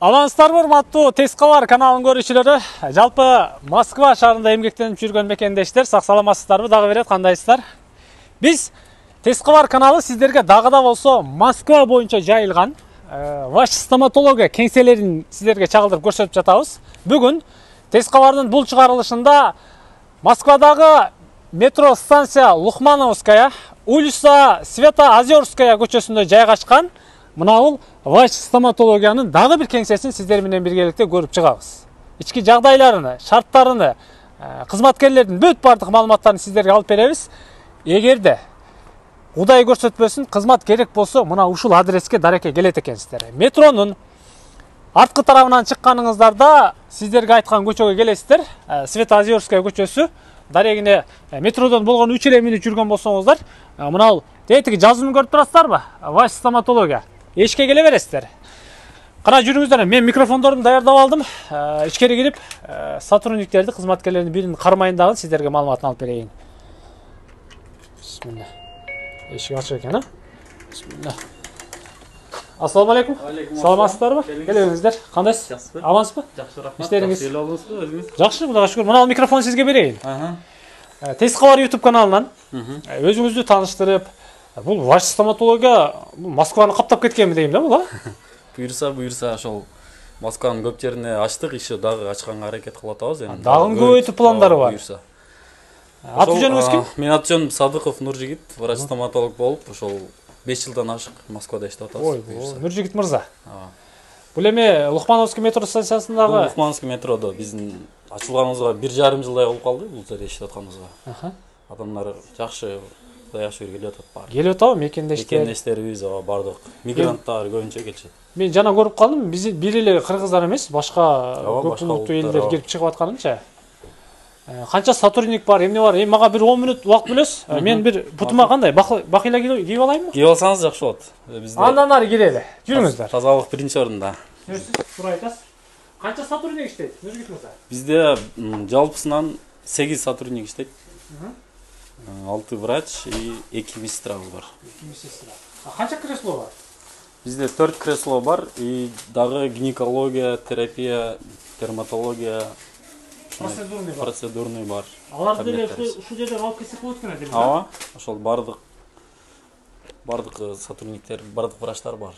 Алаңыздарбы урматтуу Тез кабар каналынын көрүүчүлөрү. Жалпы Москва шаарында эмгектенип жүргөн мекендештер, сак саламатсыздарбы? Дагы берет, кандайсыздар? Биз Тез кабар каналы сиздерге дагы да болсо Москва боюнча жайылган ваш стоматология кеңселерин сиздерге чагылдырып көрсөтүп жатабыз. Бүгүн Тез кабардын бул чыгарылышында Москвадагы метро станция Лухмановская, улица Свято-Озерская көчөсүндө жайгашкан мынабул ваш стоматологиянын дагы бир кеңсесин сиздер менен биргеликте көрүп чыгабыз. Ички жагдайларыны, шарттарыны, кызматкерлердин бүт бардык маалыматтарын сиздерге алып беребиз. Эгерде Кудай көрсөтпөсүн, кызмат керек болсо, мына ушул адреске дареке келет экенсиздер. Метронун арткы тарабынан чыкканыңыздарда сиздерге айткан көчөгө келесиздер. Свято-Озерская көчөсү. Дарегине метродон болгон 3 эле мүнөт жүргөн болсоңуздар, мына тетиги жазууну көрүп турасыздарбы? Ваш стоматология. Эшикке келе бересиздер. Кана жүрүңүздөр. Мен микрофондорумду даярдап алдым. Ичкери кирип, сотрудниктерди, кызматкерлердин биринин кармайын дагы сиздерге маалыматын алып берейин. Бисмилла. Эшик ачык экен, а? Бисмилла. Ассаламу алейкум. Саламатсыздарбы? Келиңиздер. Кандайсыз? Жакшысызбы? Амансызбы? Жакшы, рахмат. Иштериңиз? Эл алдыңызбы өзүңүз? Жакшы, Кудайга шүгүр. Мына микрофон сизге берейин. Тез кабар YouTube каналынан өзүңүздү тааныштырып, бул ваш стоматология Москваны каптап кеткенби дейм да, бул, а? Буюрса, ошол Москванын көп жерине ачтык, иши дагы ачканга аракет кылып атабыз эми. Дагы көбөйтүп пландары бар. Буюрса. Аты жөнүңүз ким? Менин аты жөнүм Садыков Нуржигит, врач стоматолог болуп, ошол 5 жылдан ашык Москвада иштеп атабыз. Ой, Нуржигит мырза. Бул эми Лухмановский метро станциясындагы Лухмановский метродо биздин ачылганыбызга 1,5 жылдай болуп калды, бул жерде иштеп атканыбызга. Адамдар жакшы, Кудай шүгүр келип атат баары. келип атабы мекендештер? Мекендештерибиз бардык. Мигранттар көбүнчө келишет. Мен жана көрүп калдым, биз бир эле кыргыздар эмес, башка көп улуттуу элдер келип чыгып атканынча. Канча сотрудник бар, эмне бар? Эми мага бир 10 мүнөт убакыт бөлөсүз. Мен бир бутума кандай бакыйла кийип алайынбы? Кийип алсаңыз жакшы болот. Бизде Андан ары кирели. Жүрүңүздөр. тазалык биринчи орунда. Жүрсүз, тура айтасыз. Канча сотрудник иштейт? Нуржигит мырза? Бизде жалпысынан 8 сотрудник иштейт. 6 врач и 2 медсестрабыз бар. 2 медсестра. Канча кресло бар? Бизде 4 кресло бар и дагы гинекология, терапия, дерматология, процедурный бар. Аларды деле ушул жерден алып келсек болот экен дейм. Ооба, ошол бардык сотрудниктер, бардык врачтар бар.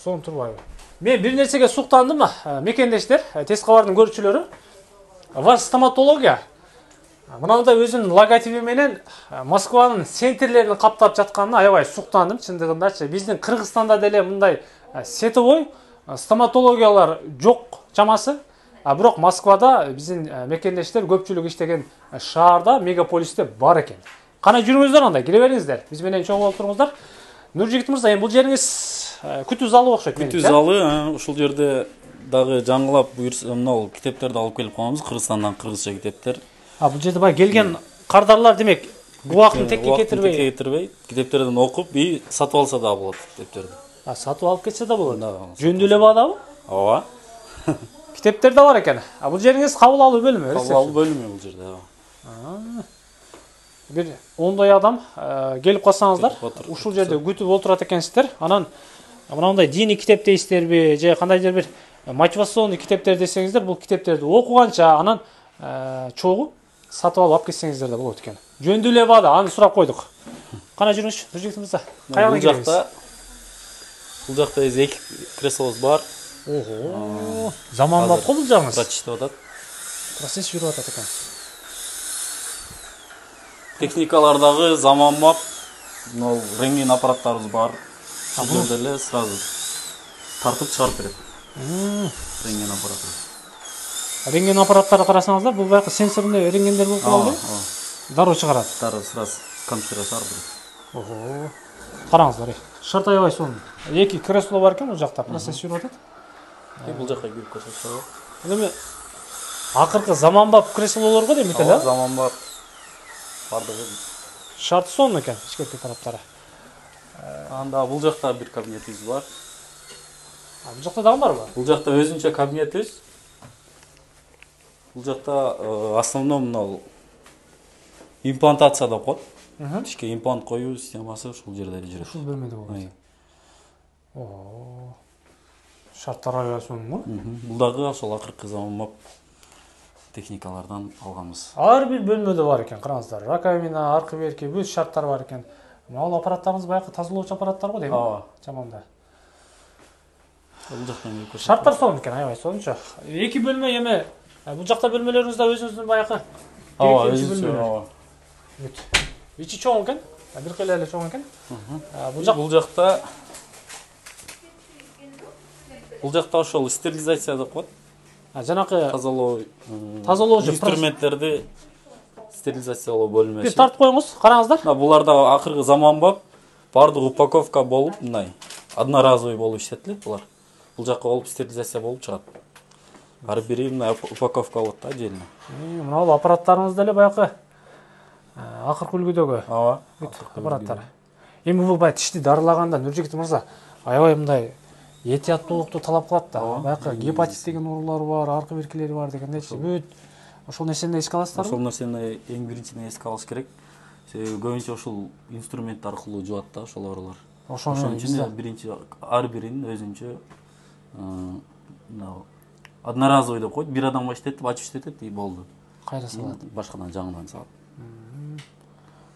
Сон турбайбы? Мен бир нерсеге суктандым, мекендештер, Тез кабардын көрүүчүлөрү. Ваш стоматология мынандай өзүнүн логотиби менен Москванын центрлерин каптап жатканына аябай суктандым, чындыгындачы. Биздин Кыргызстанда деле мындай сетовой стоматологиялар жок чамасы. Бирок Москвада биздин мекендештер көпчүлүк иштеген шаарда, мегаполисте бар экен. Кана жүрүңүздөр анда, кире бериңиздер. Биз менен чоң болуп туруңуздар. Нуржигит мырза, эми бул жериңиз күтүү залы окшойт менимче. Күтүү залы, ушул жерде дагы жаңылап буюрса, мына китептерди алып келип коебуз, Кыргызстандан кыргызча китептер. Бул жерде бай келген кардарлар демек убактын текке кетирбей, китептерден окуп и сатып алса да болот китептерди. Сатып алып кетсе да болот. Жөндүү эле баадабы? Ооба. Китептер да бар экен. Бул жериңиз кабыл алуу бөлүмү? Кабыл алуу бөлүмү бул жерде. Бир 10 адам келип калсаңыздар, ушул жерде күтүп отурат экенсиздер. Анан мындай диний китеп дейсиздерби, же кандайдыр бир мотивационный китептер десеңиздер, бул китептерди окуганча анан чогуу сатып алып кетсеңиздер да болот экен. Жөндүү эле баада, аны сурап койдук. Кана жүрүңүзчү, Нуржигит мырза. Каяга киребиз? Бул жакта 2 креслобуз бар. Ого. Заманбап го бул жагыңыз. Врач иштеп атат. Процесс жүрүп атат экен. Техникалар дагы заманбап. Мына рентген аппараттарыбыз бар. Бул деле сразу тартып чыгарып берет. Рентген аппараты. Рентген аппараттары карасаңыздар, бул баягы сенсорный рентгендер болуп калды. Дароо чыгарат. Дароо сразу компьютерге чыгарып берет. Ого. Караңыздар. Шарт аябай сонун. 2 кресло бар экен, бул жакта процесс жүрүп атат. Бул жакка кирип көрсөтсө. Эми акыркы заманбап креслолорго дейм эле. Заманбап. Бардыгы шарт сонун экен, ичкерки тараптары. Анда бул жакта бир кабинетибиз бар. Бул жакта дагы барбы? Бул жакта өзүнчө кабинетибиз. Бул жакта основном мына имплантация деп коет. Тишке имплант коюу системасы ушул жерде жүрөт. Ушул бөлмөдө болот. Шарттарга ылайсыңбы? Бул дагы ошол акыркы заманбап техникалардан алганбыз. Ар бир бөлмөдө бар экен, караңыздар. Раковина, аркы берки, бүт шарттар бар экен. Ал аппараттарыбыз баягы тазалоочу аппараттар го дейм. Ооба. Жаманда. Бул жактан көрсөтөм. Шарттар сонун экен, аябай сончо. Эки бөлмө эме бул жакта бөлмөлөрүңүз да өзүңүздүн баягы. Ооба, өзүнчө. Ооба. Бүт. Ичи чоң экен. Бир кыйла эле чоң экен. Бул жакта ошол стерилизация деп коет. Жанакы тазалоочу инструменттерди стерилизациялоо бөлмөсү. Бир тартып коюңуз, караңыздар. Буларда акыркы заманбап бардык упаковка болуп, мындай одноразовый болуп иштетилет булар. Бул жакка болуп стерилизация болуп чыгат. Ар бири мындай упаковка болот да отдельно. Мына бул аппараттарыңыз деле баягы акыркы үлгүдөгү. Ооба. Аппараттар. Эми бул бай тишти дарылаганда Нуржигит мырза аябай мындай этияттуулукту талап кылат да. Баягы гепатит деген оорулар бар, аркы беркилери бар дегендейчи. Бүт ошол нерсени эске аласыздарбы? Ошол нерсени эң биринчиден эске алыш керек. Себеби көбүнчө ошол инструмент аркылуу жуат да ошол оорулар. Ошон үчүн биринчи ар биринин өзүнчө одноразовый деп коет. Бир адамга иштетип, ачып иштетет и болду. Кайра салат. Башкадан жаңыдан салат.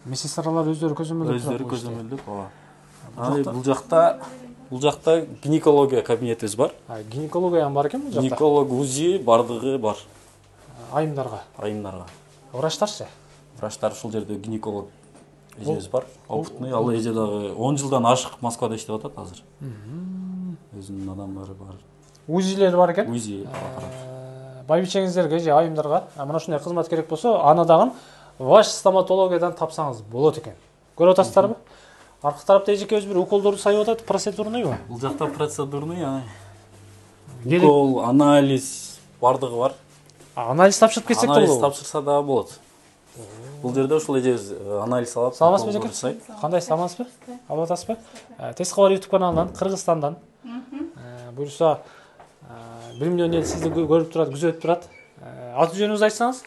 Медсестралар өздөрү көзөмөлдөп турат. Өздөрү көзөмөлдөп, ооба. Бул жакта гинекология кабинетибиз бар. Гинекология бар экен бул жакта. Гинеколог, УЗИ бардыгы бар. Айымдарга. Врачтарчы? Врачтар ушул жерде гинеколог эжебиз бар. Опытный, ал эже дагы 10 жылдан ашык Москвада иштеп атат азыр. Өзүнүн адамдары бар. УЗИлер бар экен? УЗИ. Байбичеңиздерге же айымдарга мына ушундай кызмат керек болсо, аны дагы ваш стоматологиядан тапсаңыз болот экен. Көрүп атасыздарбы? Аркы тарапта эжекебиз бир уколдорду сайып атат, процедурныйбы? Бул жакта процедурный, укол, анализ бардыгы бар. Анализ тапшырып кетсек да болобу? Анализ тапшырса дагы болот. Бул жерде ушул эжебиз анализ алат. Саламатсызбы эжеке? Кандайсыз, амансызбы? Алып атасызбы? Теск кабар YouTube каналынан, Кыргызстандан. Буюрса 1 миллион ел сизди көрүп турат, күзөтүп турат. Аты жөнүңүздү айтсаңыз?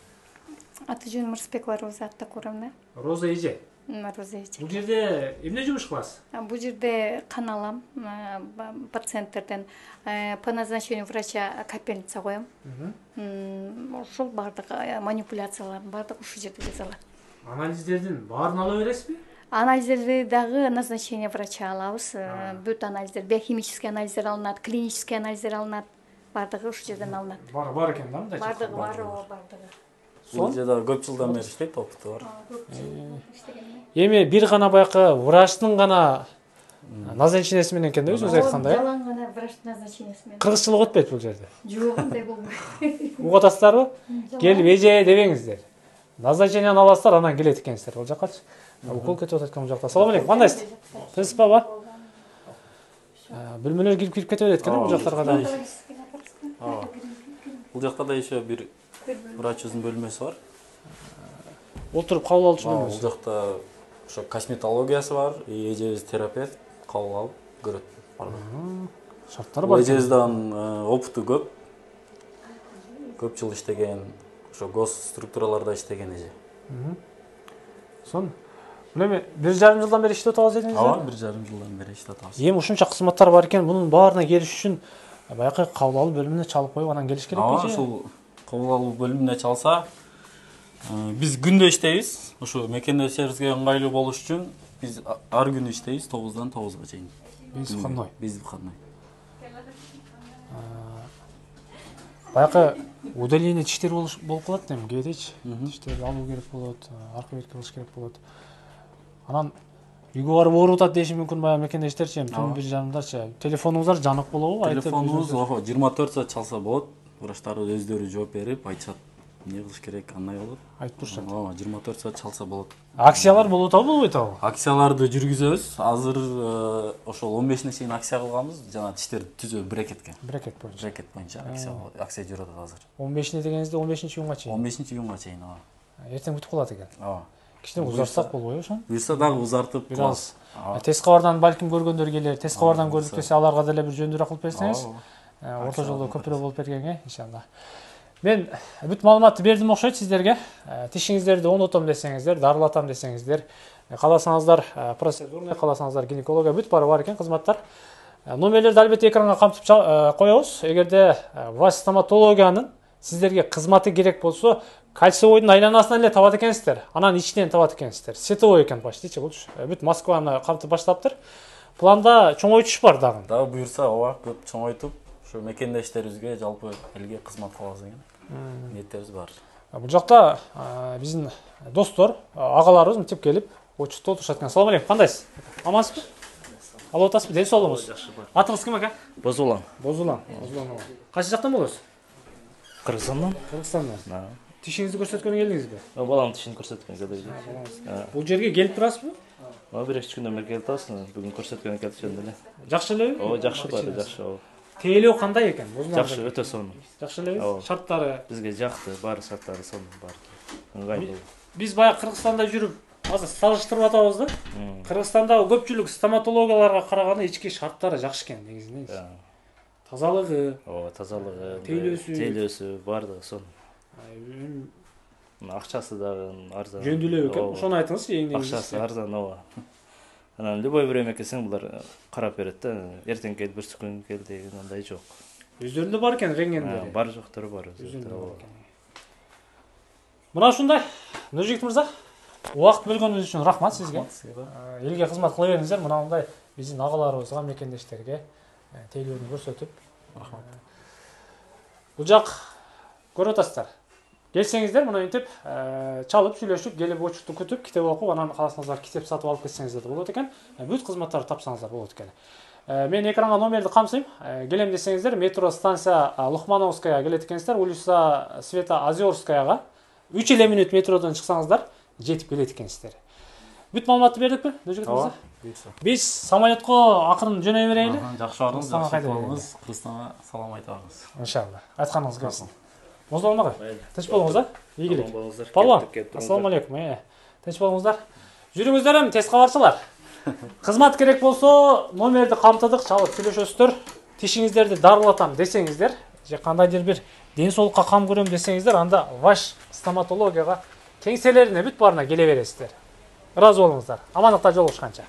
Аты жөнүм Мырзбекова Роза Аттакуровна. Роза эже. Роза эже. Бул жерде эмне жумуш кыласыз? Бул жерде кан алам пациенттерден, по назначению врача капельница коем. Ошол бардык манипуляциялардын бардыгы ушул жерде жасалат. Анализдердин баарын ала бересизби? Анализдерди дагы назначение врача алабыз. Бүт анализдер, биохимический анализдер алынат, клинический анализдер алынат. Бардыгы ушул жерден алынат. Бар экен да мындай? Бардыгы бар, бардыгы. Бул жерде көп жылдан бери иштейт, опыту бар. Эми бир гана баягы врачтын гана назначениеси менен экен да өзүңүз айткандай. Жалаң гана врачтын назначениеси менен. Кыргызчылык өтпөйт бул жерде. Жок, андай болбойт. Угуп атасыздарбы? Келип эже дебеңиздер. Назначениени аласыздар, анан келет экенсиздер. Бул жаккачы. Укол кетип атат экен бул жакта. Салам алейкум, кандайсыз? Тынчпабы? Бөлмөлөр кирип кетип берет экен бул жактарга да. Бул жакта да еще бир врачыбыздын бөлмөсү бар. Отуруп кабыл алчу бөлмөсү. Бул жакта ошо косметологиясы бар, эжебиз терапевт, кабыл алып көрөт. Шарттары бар. Эжебиздин опыту көп. Көп жыл иштеген, ошо гос структураларда иштеген эже. Сон. Бул эми 1,5 жылдан бери иштеп атабыз дедиңиз? Ооба, 1,5 жылдан бери иштеп атабыз. Эми ушунча кызматтар бар экен, мунун баарына келиш үчүн баягы кабыл алуу бөлүмүнө чалып коюп анан келиш керекпи? Ооба, ушул кабыл алуу бөлүмүнө чалса, биз күндө иштейбиз. Ошо мекендешибизге ыңгайлуу болуш үчүн биз ар күнү иштейбиз 9-дан 9га чейин. Биз выходной. Баягы удаление тиштер болуп калат эми кээдечи. Тиштерди алуу керек болот, аркы берки кылыш керек болот. Анан үйгө барып ооруп атат деши мүмкүн баягы мекендештерчи, түн 1:30дарчы. Телефонуңуздар жанык болобу? Телефонубуз 24 саат чалса болот. Врачтар өздөрү жооп берип айтышат. Эмне кылыш керек, кандай болот? Айтып турушат. Ооба, 24 саат чалса болот. Акциялар болуп атабы, болбойт атабы? Акцияларды жүргүзөбүз. Азыр ошол 15-не чейин акция кылганбыз. Жана тиштерди түзөө брекетке. Брекет боюнча акция жүрүп атат азыр. 15-не дегенизде 15-июнга чейин. 15-июнга чейин, ооба. Эртең бүтүп калат экен. Ооба. Кичине узартсак болбойбу ошо? Буюрса дагы узартып кылабыз. Теск кабардан балким көргөндөр келер. Теск кабардан көрдүк десе, аларга деле бир жөндөрү кылып берсеңиз. Орто жолдо көпүрө болуп бергенге, иншалла. Мен бүт маалыматты бердим окшойт сиздерге. Тишиңиздерди оңдотом десеңиздер, дарылатам десеңиздер, кааласаңыздар процедурный, кааласаңыздар гинекология бүт баары бар экен кызматтар. Номерлерди албетте экранга камтып коебуз. Эгерде ваш стоматологиянын сиздерге кызматы керек болсо, Кольцевойдун айланасынан эле табат экенсиздер. Анан ичинен табат экенсиздер. Сетовой экен почти болчу. Бүт Москваны камтып баштаптыр. Планда чоңойтуш бар дагы. Дагы буюрса, ооба, көп чоңойтуп, ушу мекендештерибизге, жалпы элге кызмат кылабыз деген ниеттерибиз бар. Бул жакта биздин достор, агаларыбыз мынтип келип, очутуп отурушат экен. Ассалому алейкум, кандайсыз? Амансызбы? Алып атасызбы? Ден соолугуңуз? Жакшы бар. Атыңыз ким ака? Бозулан. Бозулан. Кайсы жактан болосуз? Кыргызстандан. Кыргызстандан. Тишиңизди көрсөткөнгө келдиңизби? Баламдын тишин көрсөткөнгө келдим. Бул жерге келип турасызбы? Бир-эки күндөн бери келип атасың, бүгүн көрсөткөнгө келип жөндөй эле. Жакшы элеби? Ооба, жакшы бар, жакшы. Тейлөө кандай экен? Жакшы, өтө сонун. Жакшы элеби? Шарттары Бизге жакты, баары шарттары сонун бар. Ыңгайлуу. Биз баягы Кыргызстанда жүрүп, азыр салыштырып атабыз да. Кыргызстандагы көпчүлүк стоматологияларга караганда ички шарттары жакшы экен негизинен. Тазалыгы, Ооба, тазалыгы, тейлөөсү баардыгы сонун. Акчасы дагы арзан. Жөндүлөө экен. Ошону айтыңызчы, эң негизи. Акчасы арзан, ооба. Анан любой время келсең булар карап берет да. Эртең кел, бүрсү күн кел деген андай жок. Өздөрүндө бар экен рентгендери. Бар жоктору бар. Мына ушундай. Нуржигит мырза, убакыт бөлгөнүңүз үчүн рахмат сизге. Элге кызмат кыла бериңиздер. Мындай биздин агаларыбызга, мекендештерге тейлөөнү көрсөтүп. Рахмат. Бул жак көрүп атасыздар. Келсеңиздер, мына интип чалып, сүйлөшүп, келип очукту күтүп, китеп окуп, анан кааласаңыздар китеп сатып алып кетсеңиздер болот экен. Бүт кызматтарды тапсаңыздар болот экен. Мен экранга номерди камсыйм. Келем десеңиздер, метро станция Лухмановская келет экенсиздер, улица Света Озерскаяга 3 эле мүнөт метродон чыксаңыздар, жетип келет экенсиздер. Бүт маалыматты бердикпи, Нуржигит мырза? Биз самолетко акырын жөнөй берели. Жакшы барыңыз, жакшы болуңуз, Кыргызстанга салам айта барыңыз. Иншалла. Айтканыңыз келсин. Бозулан ага. Тынч болуңуз, а? Ийгилик. Палван. Ассаламу алейкум. Тынч болуңуздар. Жүрүңүздөр, тез кабарчылар. Кызмат керек болсо, номерди камтыдык, чалып сүйлөшөсүздөр. Тишиңиздерди дарылатам десеңиздер, же кандайдыр бир ден соолукка кам көрөм десеңиздер, анда ваш стоматологияга кеңселерине бүт баарына келе бересиздер. Ыраазы болуңуздар. Амандыкта жолугушканча.